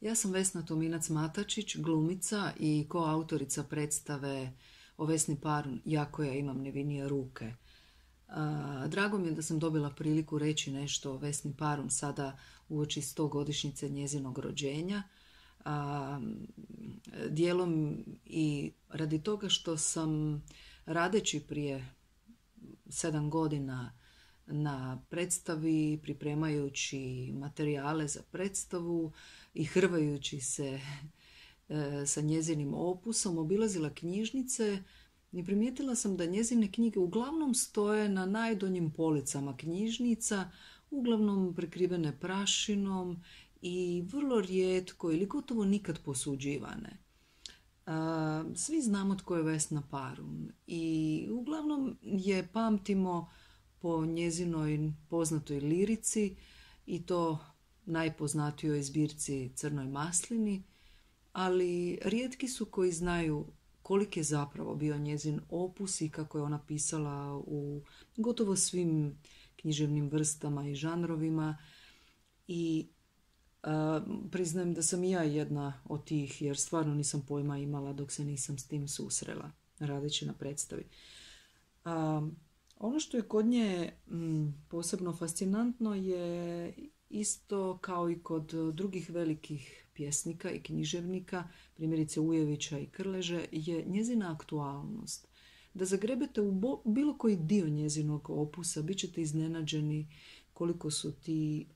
Ja sam Vesna Tominac-Matačić, glumica i koautorica predstave o Vesni Parun "Ja koja imam nevinije ruke". Drago mi je da sam dobila priliku reći nešto o Vesni Parun sada uoči 100-godišnjice njezinog rođenja. Dijelom i radi toga što sam radeći prije 7 godina na predstavi, pripremajući materijale za predstavu i hrvajući se sa njezinim opusom, obilazila knjižnice i primijetila sam da njezine knjige uglavnom stoje na najdonjim policama knjižnica, uglavnom prekrivene prašinom i vrlo rijetko ili gotovo nikad posuđivane. Svi znamo tko je Vesna Parun i uglavnom je pamtimo po njezinoj poznatoj lirici i to najpoznatijoj zbirci Crnoj maslini, ali rijetki su koji znaju koliki je zapravo bio njezin opus i kako je ona pisala u gotovo svim književnim vrstama i žanrovima. I priznajem da sam i ja jedna od tih, jer stvarno nisam pojma imala dok se nisam s tim susrela radeći na predstavi. Ono što je kod nje posebno fascinantno je isto kao i kod drugih velikih pjesnika i književnika, primjerice Ujevića i Krleže, je njezina aktualnost. Da zagrebete u bilo koji dio njezinog opusa, bit ćete iznenađeni koliko su ti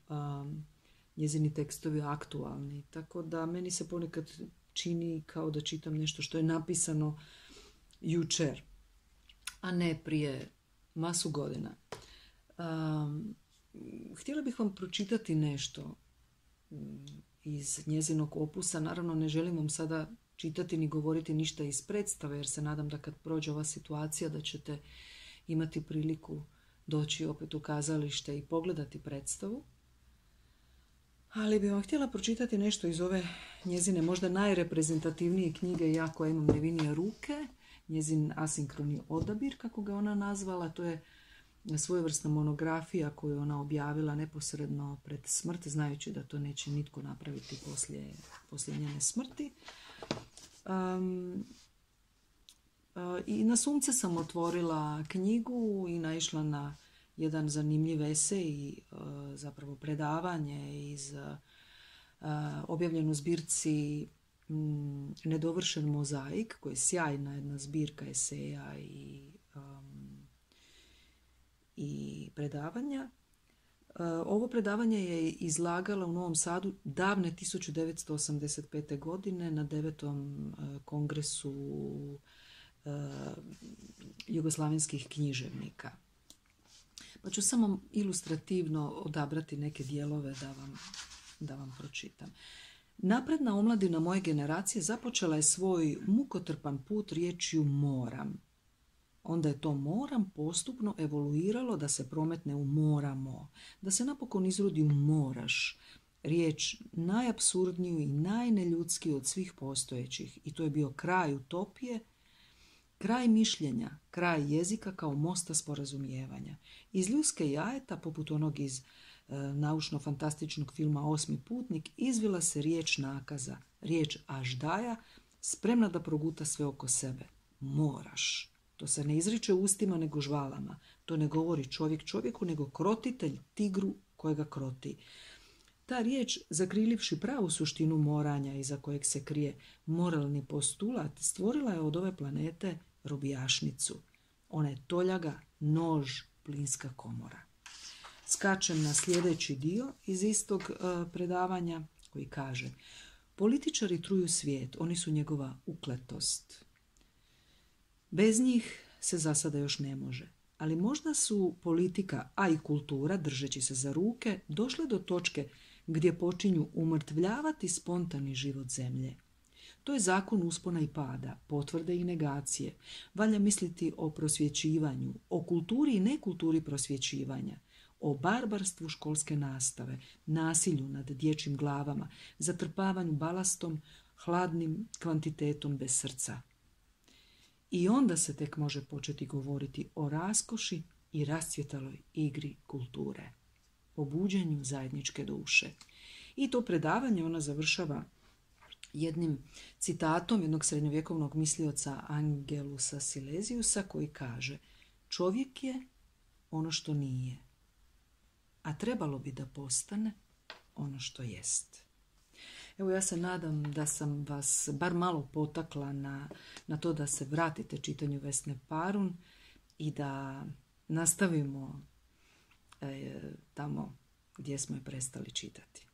njezini tekstovi aktualni. Tako da meni se ponekad čini kao da čitam nešto što je napisano jučer, a ne prije masu godina. Htjela bih vam pročitati nešto iz njezinog opusa. Naravno, ne želim vam sada čitati ni govoriti ništa iz predstave, jer se nadam da kad prođe ova situacija da ćete imati priliku doći opet u kazalište i pogledati predstavu. Ali bih vam htjela pročitati nešto iz ove njezine možda najreprezentativnije knjige "Ja koja imam nevinije ruke", njezin asinkroni odabir, kako ga ona nazvala. To je svojevrsna monografija koju ona objavila neposredno pred smrt, znajući da to neće nitko napraviti poslije njene smrti. I na sunce sam otvorila knjigu i naišla na jedan zanimljiv esej, zapravo predavanje iz objavljenu u zbirci Nedovršen mozaik, koja je sjajna jedna zbirka eseja i predavanja. Ovo predavanje je izlagala u Novom Sadu davne 1985. godine na 9. kongresu jugoslavenskih književnika. Pa ću samo ilustrativno odabrati neke dijelove da vam pročitam. Napredna omladina moje generacije započela je svoj mukotrpan put riječju moram. Onda je to moram postupno evoluiralo da se prometne u moramo, da se napokon izrodi u moraš, riječ najapsurdniju i najneljudskiju od svih postojećih. I to je bio kraj utopije, kraj mišljenja, kraj jezika kao mosta sporazumijevanja. Iz ljuske jajeta, poput onog iz naučno-fantastičnog filma Osmi putnik, izvila se riječ nakaza, riječ aždaja, spremna da proguta sve oko sebe. Moraš. To se ne izriče ustima nego žvalama. To ne govori čovjek čovjeku, nego krotitelj tigru kojega kroti. Ta riječ, zakrilivši pravu suštinu moranja iza kojeg se krije moralni postulat, stvorila je od ove planete robijašnicu. Ona je toljaga, nož, plinska komora. Skačem na sljedeći dio iz istog predavanja koji kaže: političari truju svijet, oni su njegova ukletost. Bez njih se za sada još ne može, ali možda su politika, a i kultura, držeći se za ruke, došle do točke gdje počinju umrtvljavati spontani život zemlje. To je zakon uspona i pada, potvrde i negacije. Valja misliti o prosvjećivanju, o kulturi i nekulturi prosvjećivanja, o barbarstvu školske nastave, nasilju nad dječjim glavama, zatrpavanju balastom, hladnim kvantitetom bez srca. I onda se tek može početi govoriti o raskoši i rascvjetaloj igri kulture, o buđenju zajedničke duše. I to predavanje ona završava jednim citatom jednog srednjovjekovnog mislioca Angelusa Silesiusa koji kaže: čovjek je ono što nije, a trebalo bi da postane ono što jest. Evo, ja se nadam da sam vas bar malo potakla na to da se vratite čitanju Vesne Parun i da nastavimo tamo gdje smo je prestali čitati.